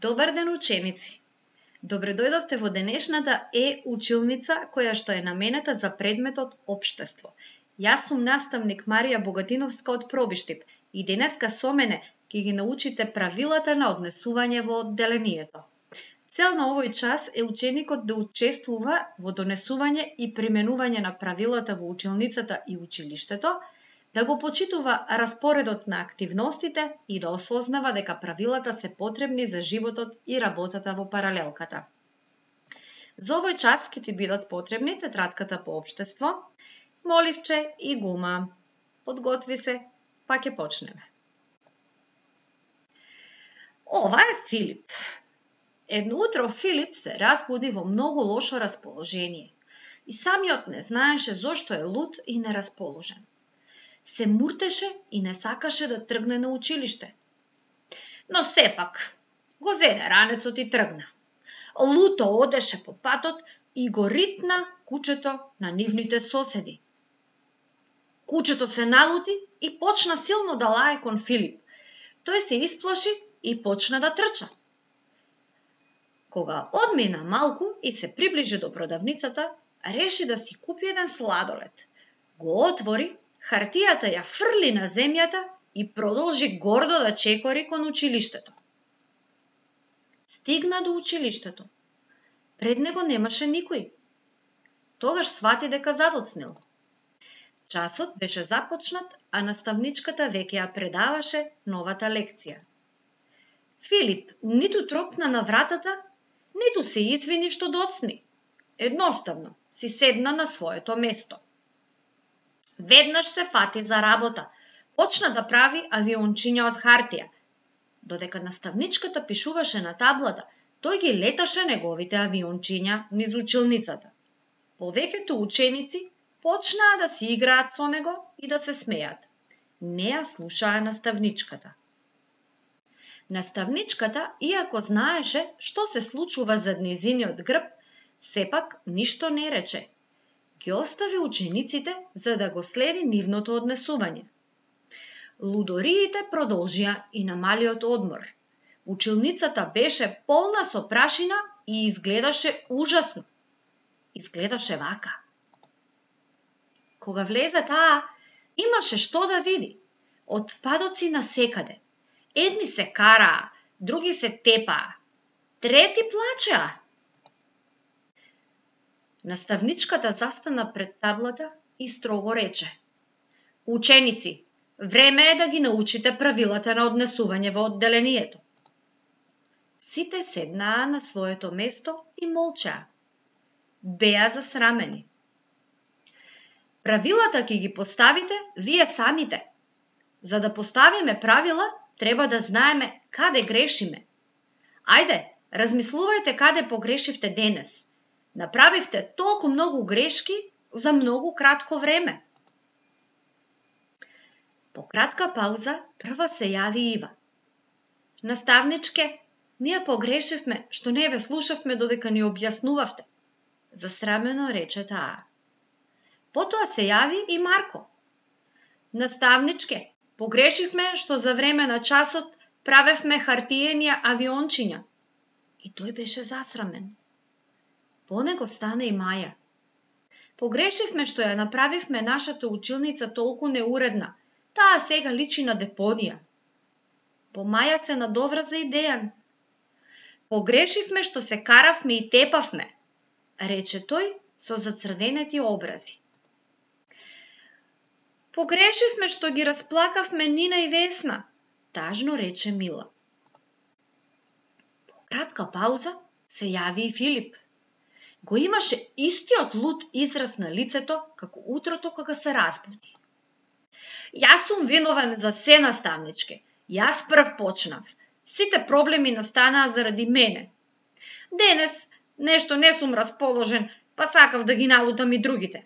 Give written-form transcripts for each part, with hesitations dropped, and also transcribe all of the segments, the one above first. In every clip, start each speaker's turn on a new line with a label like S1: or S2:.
S1: Добар ден, ученици! Добре дојдовте во денешната училница која што е наменета за предметот Општество. Јас сум наставник Марија Богатиновска од Пробиштип и денеска со мене ќе ги научите правилата на однесување во одделението. Цел на овој час е ученикот да учествува во донесување и применување на правилата во училницата и училиштето, да го почитува распоредот на активностите и да осознава дека правилата се потребни за животот и работата во паралелката. За овој час ќе ти бидат потребни тетратката по општество, моливче и гума. Подготви се, па ќе почнеме. Ова е Филип. Едно утро Филип се разбуди во многу лошо расположение и самиот не знаеше зошто е луд и нерасположен. Се муртеше и не сакаше да тргне на училиште. Но сепак го зеде ранецот и тргна. Луто одеше по патот и го ритна кучето на нивните соседи. Кучето се налути и почна силно да лае кон Филип. Тој се исплаши и почна да трча. Кога одмина малку и се приближи до продавницата, реши да си купи еден сладолед. Го отвори, хартијата ја фрли на земјата и продолжи гордо да чекори кон училиштето. Стигна до училиштето. Пред него немаше никој. Тогаш свати дека завоцнил. Часот беше започнат, а наставничката веќе ја предаваше новата лекција. Филип ниту тропна на вратата, ниту се извини што доцни. Едноставно си седна на своето место. Веднаш се фати за работа. Почна да прави авиончиња од хартија. Додека наставничката пишуваше на таблата, тој ги леташе неговите авиончиња низ училницата. Повеќето ученици почнаа да си играат со него и да се смеат. Не ја слушаа наставничката. Наставничката, иако знаеше што се случува зад нејзиниот грб, сепак ништо не рече. Ги остави учениците за да го следи нивното однесување. Лудориите продолжија и на малиот одмор. Училницата беше полна со прашина и изгледаше ужасно. Изгледаше вака. Кога влезе таа, имаше што да види. Отпадоци насекаде. Едни се караа, други се тепаа, трети плачеа. Наставничката застана пред таблата и строго рече: Ученици, време е да ги научите правилата на однесување во одделението. Сите седнаа на своето место и молчаа. Беа засрамени. Правилата ќе ги поставите вие самите. За да поставиме правила, треба да знаеме каде грешиме. Ајде, размислувајте каде погрешивте денес. Направивте толку многу грешки за многу кратко време. По кратка пауза прва се јави Ива. Наставничке, ние погрешивме што не ве слушавме додека ни објаснувавте. Засрамено рече таа. Потоа се јави и Марко. Наставничке, погрешивме што за време на часот правевме хартиени авиончиња. И тој беше засрамен. По него стана и Маја. Погрешивме што ја направивме нашата училница толку неуредна. Таа сега личи на депонија. По Маја се надоврза и Дејан. Погрешивме што се каравме и тепавме, рече тој со зацрвенети образи. Погрешивме што ги расплакавме Нина и Весна, тажно рече Мила. По кратка пауза се јави и Филип. Го имаше истиот луд израз на лицето како утрото кога се разбуди. Јас сум виновен за се, наставничке. Јас прв почнав. Сите проблеми настанаа заради мене. Денес нешто не сум расположен, па сакав да ги налутам и другите.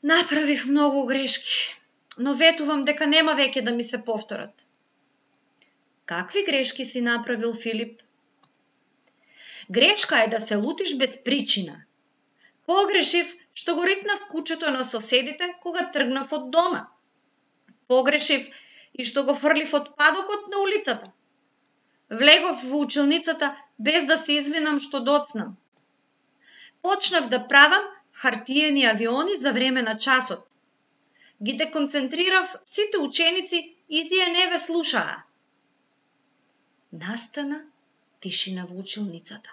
S1: Направив многу грешки, но ветувам дека нема веќе да ми се повторат. Какви грешки си направил, Филип? Грешка е да се лутиш без причина. Погрешив што го ритнав кучето на соседите кога тргнав од дома. Погрешив и што го фрлив отпадокот на улицата. Влегов во училницата без да се извинам што доцнам. Почнав да правам хартиени авиони за време на часот. Ги деконцентрирав сите ученици и тие не ве слушаа. Настана тишина во училницата.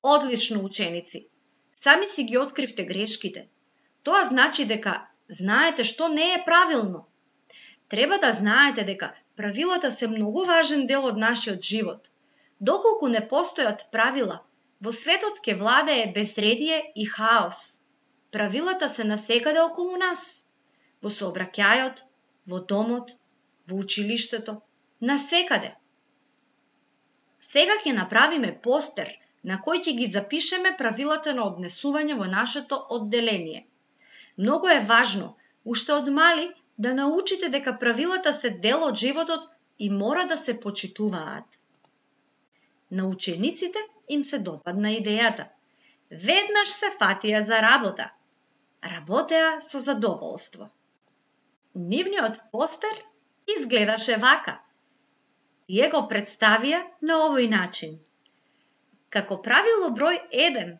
S1: Одлично, ученици. Сами си ги откривте грешките. Тоа значи дека знаете што не е правилно. Треба да знаете дека правилата се многу важен дел од нашиот живот. Доколку не постојат правила, во светот ќе владее безредие и хаос. Правилата се насекаде околу нас. Во сообраќајот, во домот, во училиштето, насекаде. Сега ќе направиме постер на кој ќе ги запишеме правилата на однесување во нашето одделение. Многу е важно, уште од мали, да научите дека правилата се дел од животот и мора да се почитуваат. На учениците им се допадна идејата. Веднаш се фатија за работа. Работеа со задоволство. Нивниот постер изгледаше вака. Тие го представија на овој начин. Како правило број 1,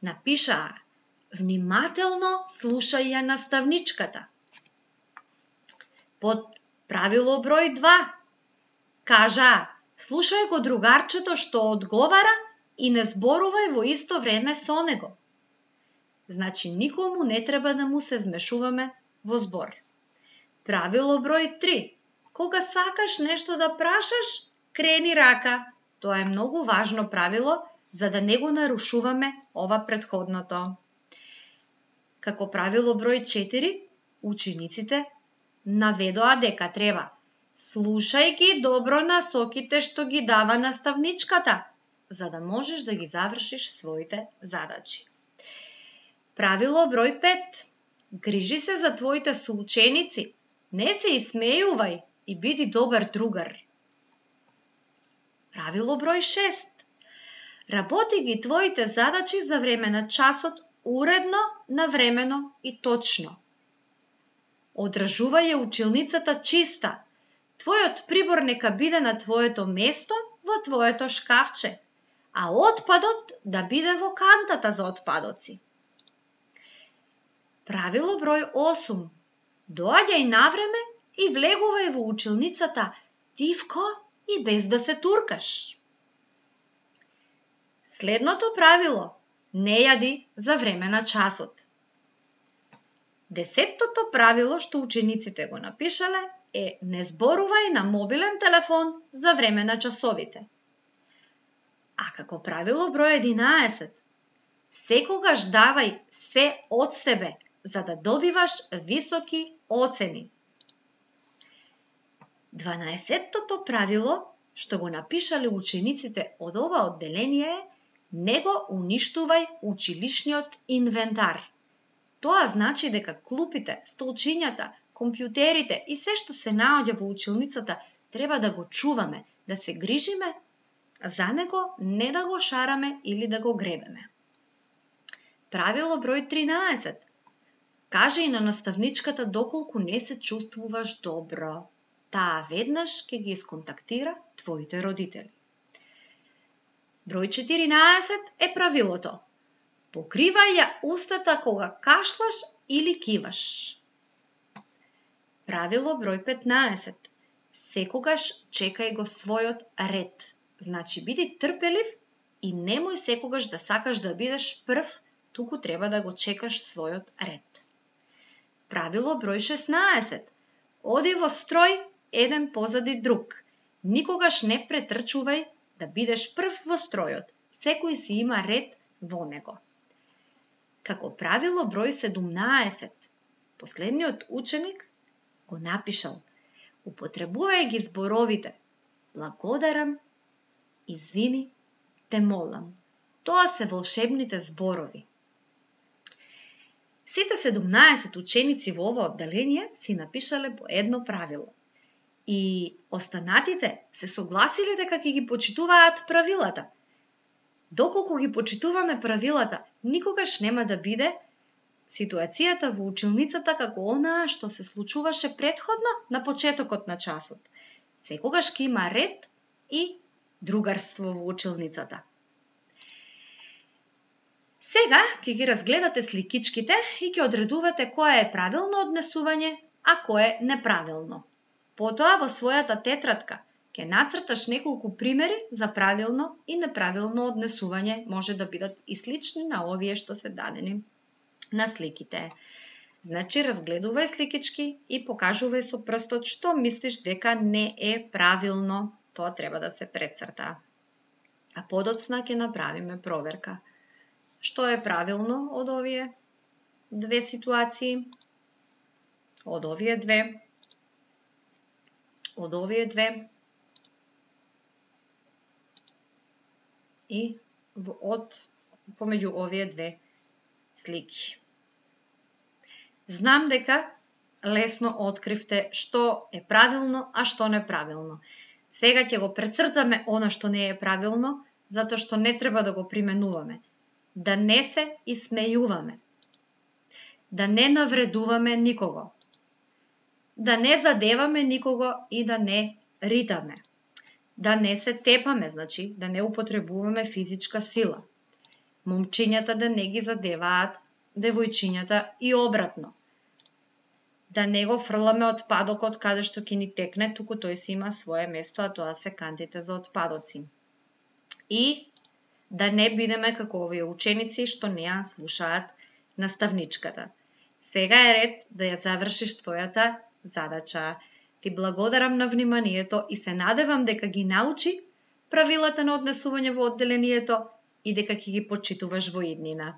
S1: напишаа: внимателно слушај ја наставничката. Под правило број 2, кажаа: слушај го другарчето што одговара и не зборувај во исто време со него. Значи никому не треба да му се вмешуваме во збор. Правило број 3, кога сакаш нешто да прашаш, крени рака. Тоа е многу важно правило, за да не го нарушуваме ова претходното. Како правило број 4, учениците наведоа дека треба: слушај ги добро насоките што ги дава наставничката, за да можеш да ги завршиш своите задачи. Правило број 5, грижи се за твоите соученици, не се исмејувај и биди добар другар. Правило број 6, работи ги твоите задачи за време на часот уредно, навремено и точно. Одржувај ја училницата чиста. Твојот прибор нека биде на твоето место во твоето шкафче, а отпадот да биде во кантата за отпадоци. Правило број 8, доаѓај навреме и влегувај во училницата тивко и без да се туркаш. Следното правило: не јади за време на часот. 10-тото правило што учениците го напишале е: не зборувај на мобилен телефон за време на часовите. А како правило број 11, секогаш давај се од себе за да добиваш високи оцени. 12-тото правило што го напишале учениците од ова одделение е: не го уништувај училишниот инвентар. Тоа значи дека клупите, столчињата, компјутерите и се што се наоѓа во училницата треба да го чуваме, да се грижиме за него, не да го шараме или да го гребеме. Правило број 13. Кажи на наставничката доколку не се чувствуваш добро. Таа веднаш ќе ги исконтактира твоите родители. Број 14 е правилото: покривај ја устата кога кашлаш или киваш. Правило број 15. Секогаш чекај го својот ред. Значи биди трпелив и немој секогаш да сакаш да бидеш прв, туку треба да го чекаш својот ред. Правило број 16. Оди во строј еден позади друг. Никогаш не претрчувај да бидеш прв во стројот. Секој си има ред во него. Како правило број 17. Последниот ученик го напишал: употребувај ги зборовите: благодарам, извини, те молам. Тоа се волшебните зборови. Сите 17 ученици во ова одделение си напишале по едно правило. И останатите се согласиле дека ќе ги почитуваат правилата. Доколку ги почитуваме правилата, никогаш нема да биде ситуацијата во училницата како онаа што се случуваше претходно на почетокот на часот. Секогаш ќе има ред и другарство во училницата. Сега ќе ги разгледате сликичките и ќе одредувате кое е правилно однесување, а кое е неправилно. Потоа во својата тетрадка ќе нацрташ неколку примери за правилно и неправилно однесување, може да бидат и слични на овие што се дадени на сликите. Значи, разгледувај сликички и покажувај со прстот што мислиш дека не е правилно. Тоа треба да се прецрта. А подоцна ќе направиме проверка. Што е правилно од овие две ситуации? Од овие две? Од овие две? И помеѓу овие две слики. Знам дека лесно откривте што е правилно, а што неправилно. Сега ќе го прецртаме она што не е правилно, затоа што не треба да го применуваме. Да не се исмејуваме. Да не навредуваме никого. Да не задеваме никого и да не ритаме. Да не се тепаме, значи да не употребуваме физичка сила. Момчињата да не ги задеваат девојчињата и обратно. Да не го фрламе отпадокот каде што ќе ни текне, туку тој си има свое место, а тоа се кантите за отпадоци. И да не бидеме како овие ученици што не ја слушаат наставничката. Сега е ред да ја завршиш твојата задача. Ти благодарам на вниманието и се надевам дека ги научи правилата на однесување во одделението и дека ќе ги почитуваш во иднина.